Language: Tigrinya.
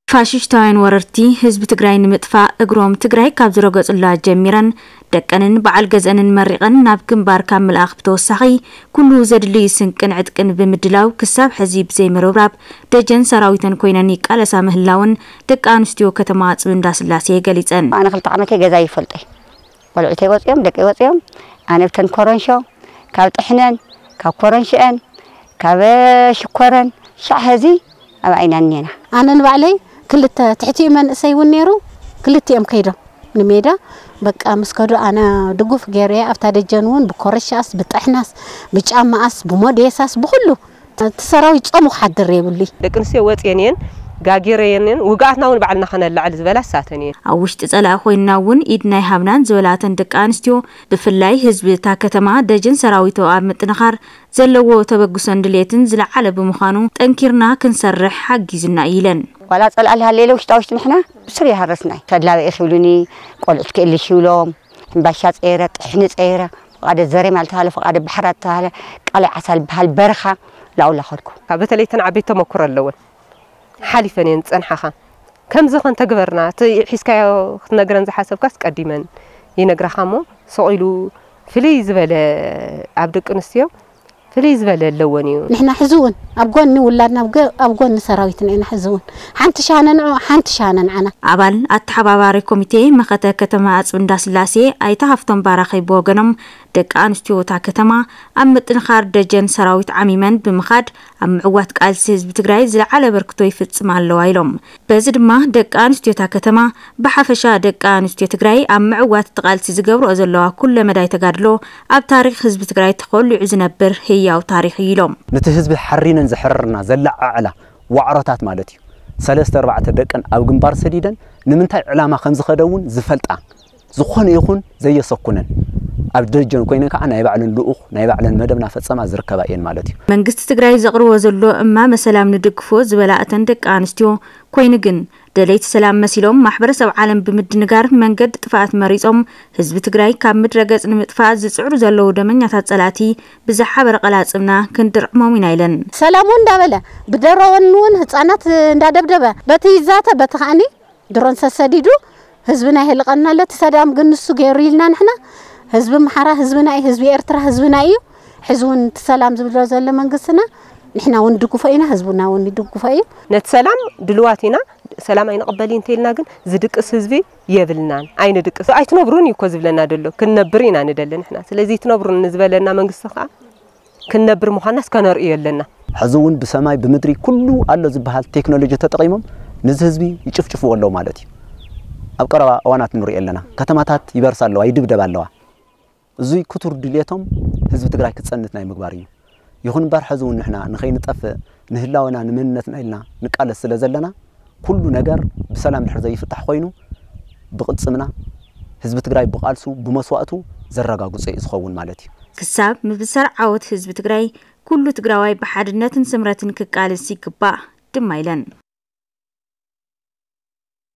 ፋሽሽታውያን ወረርቲ ህዝቢ ትግራይ ንምጥፋእ እግሮም ትግራይ ካብ ዝረገጹላ ጀሚረን ደቀንን በዓል ገዝአንን መሪቐን ናብ ግንባር ካብ ምልኣኽ ብተወሳኺ ኩሉ ዘድልይ ስንቅን ዕጥቅን ብምድላው ክሳብ ሕዚ ብዘይምርብራብ ደጀን ሰራዊተን ኮይነን ይቃለሳ ምህላውን ደቂ ኣንስትዮ ከተማ ኣፅቢ እንዳስላሴ ገሊፀን። ኣነ ክልተ ዓመተይ ገዛ ይፈልጠይ ቆልዑተይ ወፅዮም ደቂ ወፅዮም ኣነ ብተን ኮረንሾ ካብ ጥሕነን ካብ ኮረንሽአን ካብ ሽኮረን ሻዕ ሕዚ ኣብ ዓይና እኔና። ኣነ ንባዕለይ ክልተ ትሕቲኡ መንእሰይ እውን ነይሩ ክልቲኦም ከይዶም ንሜዳ በቃ ምስ ከዱ ኣነ ድጉፍ ገይረ ኣብታ ደጀን እውን ብኮረሻስ ብጥሕናስ ብጫማኣስ ብሞዴሳስ ብኩሉ እቲ ሰራዊት ጾሙ ክሓድር የብሉይ። ደቂ ኣንስትዮ ወፅየን እየን ጋጊረየን እየን ውግኣትና እውን ባዕልና ከነላዕል ዝበላ እሳተን እየን። ኣብ ውሽጢ ፀላኢ ኮይንና እውን ኢድና ይሃብናን ዝበላተን ደቂ ኣንስትዮ ብፍላይ ህዝቢ እታ ከተማ ደጀን ሰራዊቱ ኣብ ምጥንኻር ዘለዎ ተበግሶን ድሌትን ዝለዓለ ብምዃኑ ጠንኪርና ክንሰርሕ ሓጊዙና እዩ ኢለን። ዋላ ፀላእ ልሃለለ ውሽጣ ውሽጢ ንሕና ብስር ይሃረስና እዩ። ተድላበ ኢኺ ይብሉኒ ቆልዑት ክእልሽ ይብሎም ሕምባሻ ፀይረ ጥሕኒ ፀይረ ፍቓደ ዘሬ ማለት ተባሃለ ፍቓደ ባሕራ ተባሃለ ቃላይ ዓሳ ዝበሃል በረኻ ላውላ ኸድኩ። በተለይ ተን ዓበይቲ ተመኩሮ ኣለወን ሓሊፈን እየን ዝፀንሓኻ ከምዚ ኸንተግበርና እቲ ሒዝካዮ ክትነግረን ዝሓሰብካስ ቀዲመን ይነግራኻ እሞ ስቕ ኢሉ ፍልይ ዝበለ ኣብ ደቂ ኣንስትዮ ፍልይ ዝበለ ኣለወን እዩ። ንሕና ሕዚ እውን ኣብ ጎኒ ውላድና ኣብ ጎ- ኣብ ጎኒ ሰራዊትና ኢና ሕዚ እውን ሓንቲ ሻነ ንዑ ሓንቲ ሻነ ንዓና። ኣባል ኣተሓባባሪ ኮሚቴ መኸተ ከተማ ኣፅቢ እንዳስላሴ ኣይተ ሃፍቶም ባራኺ ብወገኖም ደቂ ኣንስትዮ እታ ከተማ ኣብ ምጥንኻር ደጀን ሰራዊት ዓሚመን ብምኻድ ኣብ ምዕዋት ቃልሲ ህዝቢ ትግራይ ዝለዓለ ኣበርክቶ ይፍፅማ ኣለዋ ኢሎም። በዚ ድማ ደቂ ኣንስትዮ እታ ከተማ ብሓፈሻ ደቂ ኣንስትዮ ትግራይ ኣብ ምዕዋት እቲ ቃልሲ ዝገብርኦ ዘለዋ ኩለ መዳይ ተጋድሎ ኣብ ታሪኽ ህዝቢ ትግራይ ተኾሊዑ ዝነብር ህያው ታሪኽ እዩ ኢሎም። ነቲ ህዝቢ ሓሪነን ዘሕረርና ዘለዓዕላ ዋዕሮታት ማለት እዩ። ሰለስተ ኣርባዕተ ደቀን ኣብ ግንባር ሰዲደን ንምንታይ ዕላማ ከም ዝኸደ እውን ዝፈልጣ ዝኾነ ይኹን ዘየሰኩነን ኣብ ደጀን ኮይነን ከዓ ናይ ባዕለን ልኡኽ ናይ ባዕለን መደብ ናፈፀማ ዝርከባ እየን ማለት እዩ። መንግስቲ ትግራይ ዘቕርቦ ዘሎ እማመ ሰላም ንድግፎ ዝበላ እተን ደቂ ኣንስትዮ ኮይኑ ግን ደለይቲ ሰላም መሲሎም ማሕበረሰብ ዓለም ብምድንጋር መንገዲ ጥፍኣት መሪፆም ህዝቢ ትግራይ ካብ ምድረ ገፅ ንምጥፋእ ዝፅዕሩ ዘለዉ ደመኛታት ፀላእቲ ብዝሓበረ ቀላፅምና ክንድርዕሞም ኢና ኢለን። ሰላም እውን እንዳበለ ብደሮን እውን ህፃናት እንዳደብደበ በቲ ይዛተ በቲ ከዓኒ ድሮን ሰሰዲዱ ህዝብና ይህልቐና ኣሎ። እቲ ሰላም ግን ንሱ ገይሩ ኢልና ንሕና ህዝቢ ኣምሓራ ህዝብና እዩ፣ ህዝቢ ኤርትራ ህዝብና እዩ። ሕዚ እውን እቲ ሰላም ዝብሎ ዘሎ መንግስትና ንሕና እውን ንድግፎ ኢና፣ ህዝብና እውን ይድግፎ እዩ። ነቲ ሰላም ድልዋት ኢና፣ ሰላም ኣይንቕበል እዩ እንተኢልና ግን ዝድቅስ ህዝቢ የብልናን፣ ኣይንድቅስ። ኣይትነብሩን እዩ እኮ ዝብለና ደሎ፣ ክንነብር ኢና ንደሊ ንሕና። ስለዚ ኣይትነብሩን ንዝበለና መንግስቲ ከዓ ክንነብር ምዃንና እስከ ነርእዮ ኣለና። ሕዚ እውን ብሰማይ ብምድሪ ኩሉ ኣሎ ዝበሃል ቴክኖሎጂ ተጠቒሞም ንዚ ህዝቢ ይጭፍጭፍዎ ኣለዉ ማለት እዩ። ኣብ ቀረባ እዋናት ንሪኦ ኣለና። ከተማታት ይበርሳ ኣለዋ፣ ይድብደባ ኣለዋ። እዙይ ክቱር ድልየቶም ህዝቢ ትግራይ ክፀንት ናይ ምግባር እዩ። ይኹን እምበር ሕዚ እውን ንሕና ንኸይንጠፍእ ንህላወና ንመንነትና ኢልና ንቃለስ ስለ ዘለና ኩሉ ነገር ብሰላም ድሕር ዘይፍታሕ ኮይኑ ብቕልፅምና ህዝቢ ትግራይ ብቓልሱ ብመስዋእቱ ዘረጋግፆ እዩ ዝኸውን ማለት እዩ። ክሳብ ምብሳር ዓወት ህዝቢ ትግራይ ኩሉ ትግራዋይ ብሓድነትን ስምረትን ክቃለስ ይግባእ ድማ ኢለን።